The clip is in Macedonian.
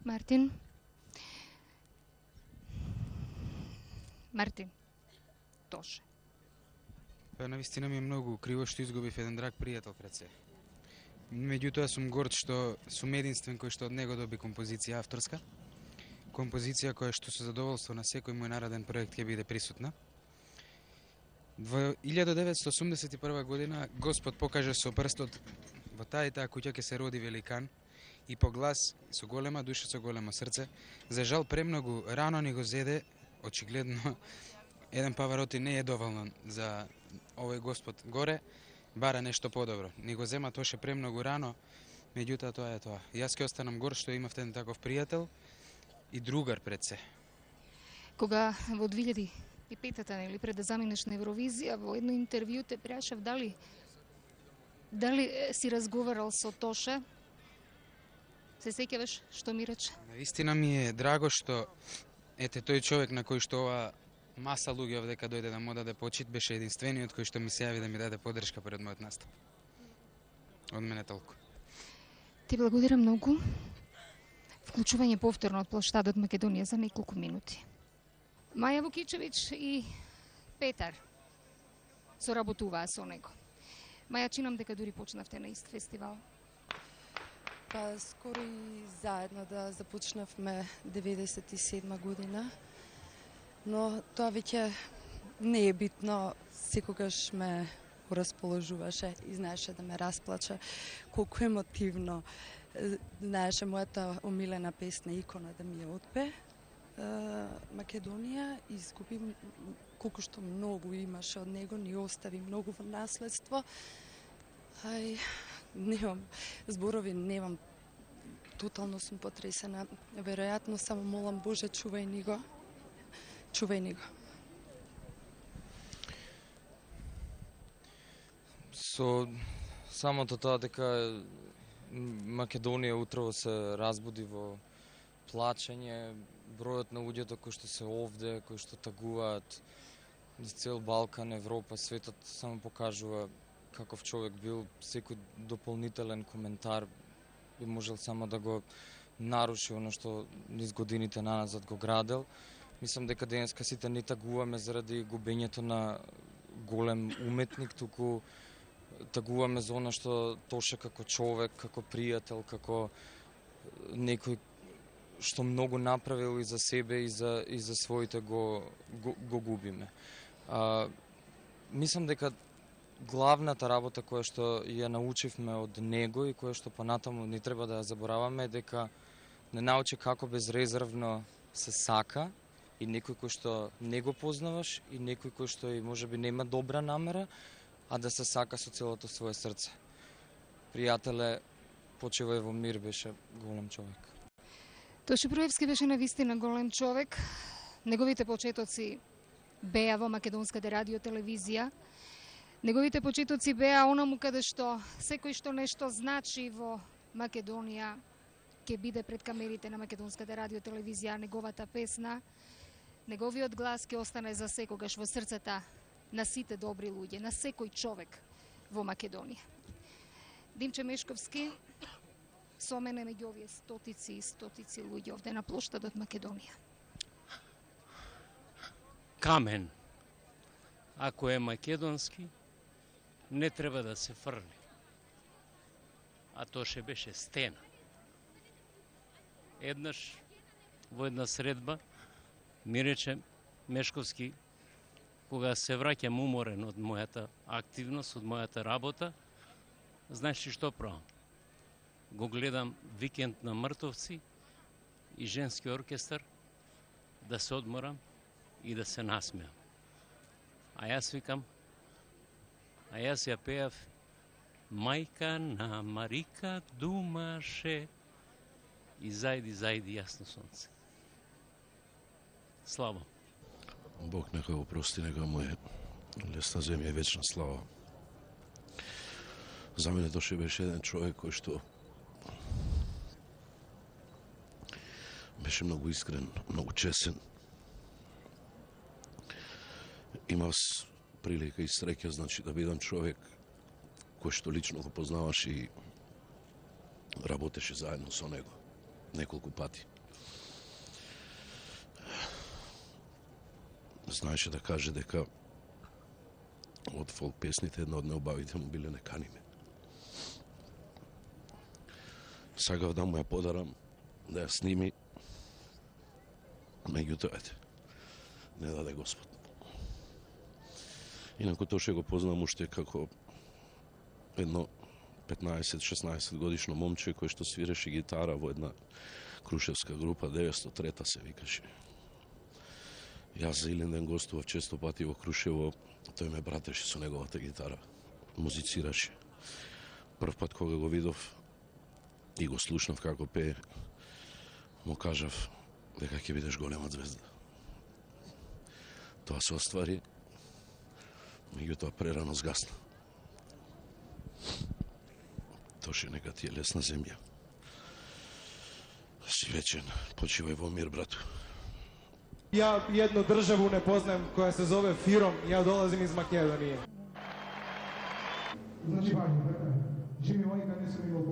Мартин. Мартин. Тоше. Па навистина ми е многу криво што изгубив еден драг пријател пред се. Меѓутоа сум горд што сум единствен кој што од него доби композиција авторска. Композиција која што со задоволство на секој мој нареден проект ќе биде присутна. Во 1981 година Господ покаже со прстот во таа и таа куќа ќе се роди великан и по глас со голема душа, со големо срце. За жал премногу рано ни го зеде, очигледно еден Павароти не е доволно за овој Господ горе, бара нешто подобро. Ни го зема Тоше премногу рано, меѓутоа тоа е тоа. Јас ќе останам горд што имав еден таков пријател и другар пред се. Кога во 2005-та, нели, пред да заминеш на Евровизија, во едно интервју те прашав дали си разговарал со Тоше. Се сеќаваш што ми рече? Наистина ми е драго што ете тој човек на кој што ова маса луѓе овдека дојде да му даде почит беше единствениот кој што ми се јави да ми даде поддршка пред мојот настап. Од мене толку. Ти благодарам многу. Вклучување повторно од плоштадот Македонија за неколку минути. Маја Вукичевиќ и Петар соработуваа со него. Маја, чинам дека дури почнавте на ист фестивал. Па скоро и заедно да започнавме 97 година, но тоа веќе не е битно, секогаш ме расположуваше и знаеше да ме расплаче, колку емотивно знаеше мојата омилена песна Икона да ми ја отпе. Македонија изгуби колку што многу имаше од него, ни остави многу во наследство. Ај, немам зборови, немам. Тотално сум потресена. Веројатно само молам Боже, чувај ни го. Чувај ни го. Со самото тоа дека Македонија утрово се разбуди во плачење, бројот на луѓето кои што се овде, кои што тагуваат низ цел Балкан, Европа, светот само покажува каков човек бил. Секој дополнителен коментар би можел само да го наруши оно што низ годините наназад го градел. Мислам дека денеска сите не тагуваме заради губењето на голем уметник, туку тагуваме за оно што Тоше како човек, како пријател, како некој што многу направил и за себе и за своите го губиме. Мислам дека главната работа која што ја научивме од него и која што понатаму не треба да ја забораваме е дека не научи како безрезервно се сака и некој кој што не го познаваш и некој кој што и можеби нема добра намера, а да се сака со целото свое срце. Пријателе, почивај во мир, беше голем човек. Тоше Проевски беше навистина голем човек. Неговите почетоци беа во македонската радиотелевизија. Неговите почетоци беа онаму каде што секој што нешто значи во Македонија ќе биде пред камерите на македонската радиотелевизија. Неговата песна, неговиот глас ќе остане за секогаш во срцата на сите добри луѓе, на секој човек во Македонија. Димче Мешковски со мене меѓу овие стотици и стотици луѓе овде на плоштадот Македонија. Камен, ако е македонски, не треба да се фрли. А Тоше беше стена. Еднаш во една средба ми рече Мешковски, кога се враќам уморен од мојата активност, од мојата работа, знаеш ли што правам? Го гледам Викенд на мртовци и женски оркестар, да се одморам и да се насмеам. А јас викам, а јас ја пеав Мајка на Марика думаше и зајди јасно сонце. Слава. Бог нека го прости, нека му е лесна земја и вечна слава. За мене Тоше беше еден човек кој што беше многу искрен, многу чесен. Имав прилика и среќа, значи, да бидам човек кој што лично го познаваш и работеше заедно со него. неколку пати. Знаеше да каже дека од фолк песните една од неубавите му биле "Не кани ме". Сакав да му ја подарам, да ја сними, меѓутоа не даде Господ. Инаку Тоше го познам уште како едно 15-16 годишно момче кој што свиреше гитара во една крушевска група, 903-та се викаше. Јас за Илинден гостував често пати во Крушево, тој ме братеше со неговата гитара, музицираше. Прв пат кога го видов и го слушнав како пее, му кажав дека ќе бидеш голема звезда. Тоа се оствари, меѓутоа прерано згасна. Тоше, нека ти е лесна земја. Си вечен, почивај во мир, брату. Ја едну државу не познам која се зове Фиром, ја долазим из Македонија. Значи важно, Джими Вајка не сум имал